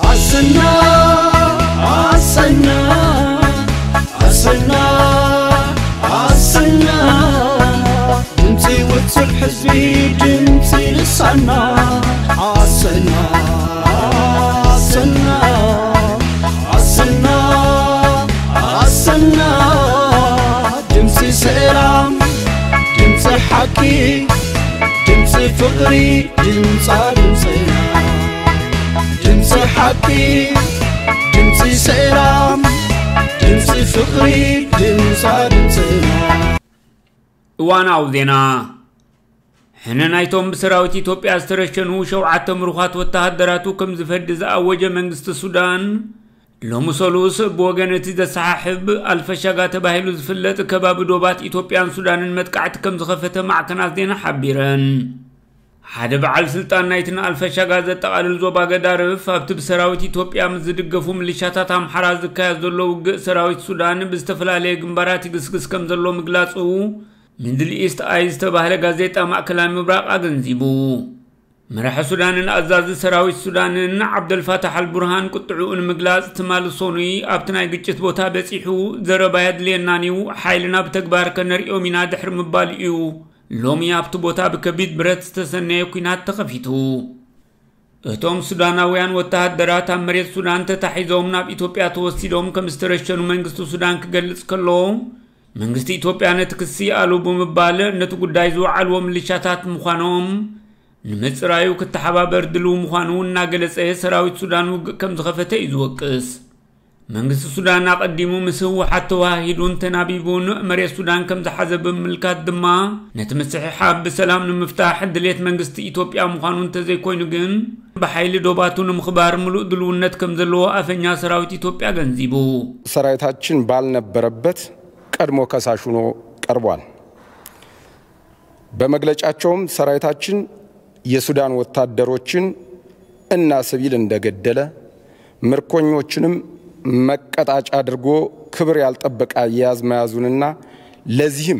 ኣሰና ኣሰና ኣሰና ኣሰና ድምፂ ውፅዕ ህዝቢ ድምፂ ልሳና ኣሰና ኣሰና ኣሰና ኣሰና ድምፂ ሰላም ድምፂ ሓቂ ድምፂ ፍቕሪ ድምፃ ድምፅና ድምፂ ሓቂ ድምፂ ሰላም ድምፂ ፍቕሪ ድምፃ ድምፅና። እዋናዊ ዜና። ሕነ ናይቶም ብሰራዊት ኢትዮጵያ ዝተረሸኑ ሸውዓተ ምሩኻት ወተሃደራቱ ከም ዝፈዲ ዝኣወጀ መንግስቲ ሱዳን፣ ሎሚ ሰሉስ ብወገን እቲ ዘሰሓሕብ ኣልፈሻጋ ተባሂሉ ዝፍለጥ ከባቢ ዶባት ኢትዮጵያን ሱዳንን መጥቃዕቲ ከም ዝኸፈተ ማዕከናት ዜና ሓቢረን። ሓደ በዓል ስልጣን ናይቲ ንኣልፈሻጋ ዘጠቓልል ዞባ ገዳርፍ ኣብቲ ብሰራዊት ኢትዮጵያ ምስ ዝድገፉ ምልሻታት ኣምሓራ ዝካየድ ዘሎ ውግእ ሰራዊት ሱዳን ብዝተፈላለየ ግንባራት ይግስግስ ከም ዘሎ ምግላጹ ሚድል ኢስት ኣይ ዝተባህለ ጋዜጣ ማእከላይ ምብራቕ ኣገንዚቡ። መራሒ ሱዳንን ኣዛዚ ሰራዊት ሱዳንን ዓብደልፋታሕ ኣልቡርሃን ቁጥዕኡ ንምግላጽ ትማሊ ሰኑይ ኣብቲ ናይ ግጭት ቦታ በጺሑ ዘረባ የድልየናን እዩ፣ ሓይልና ብተግባር ከነርእዮም ኢና ድሕሪ ምባል እዩ ሎሚ ኣብቲ ቦታ ብከቢድ ብረት ዝተሰነየ ኲናት ተኸፊቱ። እቶም ሱዳናውያን ወተሃደራት ኣብ መሬት ሱዳን ተታሒዞም ናብ ኢትዮጵያ ተወሲዶም ከም ዝተረሸኑ መንግስቲ ሱዳን ክገልጽ ከሎ፣ መንግስቲ ኢትዮጵያ ነቲ ክሲ ኣሉ ብምባል ነቲ ጉዳይ ዝወዓልዎ ምልሻታት ምዃኖም ንምጽራዩ ክተሓባበር ድልው ምዃኑ እናገለጸ ሰራዊት ሱዳን ውግእ ከም ዝኸፈተ እዩ ዝወቅስ። መንግስቲ ሱዳን ኣቐዲሙ ምስ ህወሓት ተዋሂዱን ተናቢቡን መሬት ሱዳን ከም ዝሓዘ ብምምልካት ድማ ነቲ ምስሕሓብ ብሰላም ንምፍታሕ ድሌት መንግስቲ ኢትዮጵያ ምዃኑ እንተዘይኮይኑ ግን ብሓይሊ ዶባቱ ንምኽባር ምሉእ ድልውነት ከም ዘለዎ ኣፈኛ ሰራዊት ኢትዮጵያ ገንዚቡ። ሰራዊታችን ባልነበረበት ቀድሞ ከሳሽ ሆኖ ቀርቧል። በመግለጫቸውም ሰራዊታችን የሱዳን ወታደሮችን እና ሲቪል እንደገደለ፣ ምርኮኞችንም መቀጣጫ አድርጎ ክብር ያልጠበቀ አያያዝ መያዙንና ለዚህም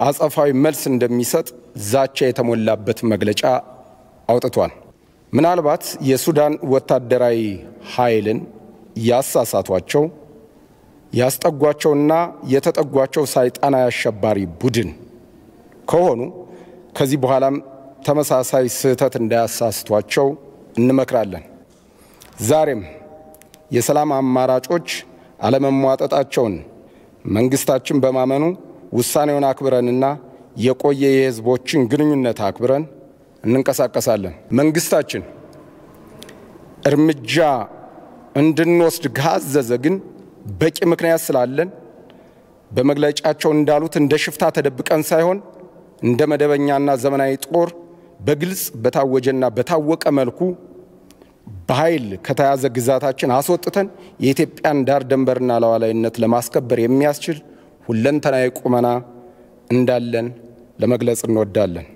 አጸፋዊ መልስ እንደሚሰጥ ዛቻ የተሞላበት መግለጫ አውጥቷል። ምናልባት የሱዳን ወታደራዊ ኃይልን ያሳሳቷቸው፣ ያስጠጓቸውና የተጠጓቸው ሰይጣናዊ አሸባሪ ቡድን ከሆኑ ከዚህ በኋላም ተመሳሳይ ስህተት እንዳያሳስቷቸው እንመክራለን። ዛሬም የሰላም አማራጮች አለመሟጠጣቸውን መንግስታችን በማመኑ ውሳኔውን አክብረንና የቆየ የህዝቦችን ግንኙነት አክብረን እንንቀሳቀሳለን። መንግስታችን እርምጃ እንድንወስድ ካዘዘ ግን በቂ ምክንያት ስላለን በመግለጫቸው እንዳሉት እንደ ሽፍታ ተደብቀን ሳይሆን እንደ መደበኛና ዘመናዊ ጦር በግልጽ በታወጀና በታወቀ መልኩ በኃይል ከተያዘ ግዛታችን አስወጥተን የኢትዮጵያን ዳር ድንበርና ሉዓላዊነት ለማስከበር የሚያስችል ሁለንተናዊ ቁመና እንዳለን ለመግለጽ እንወዳለን።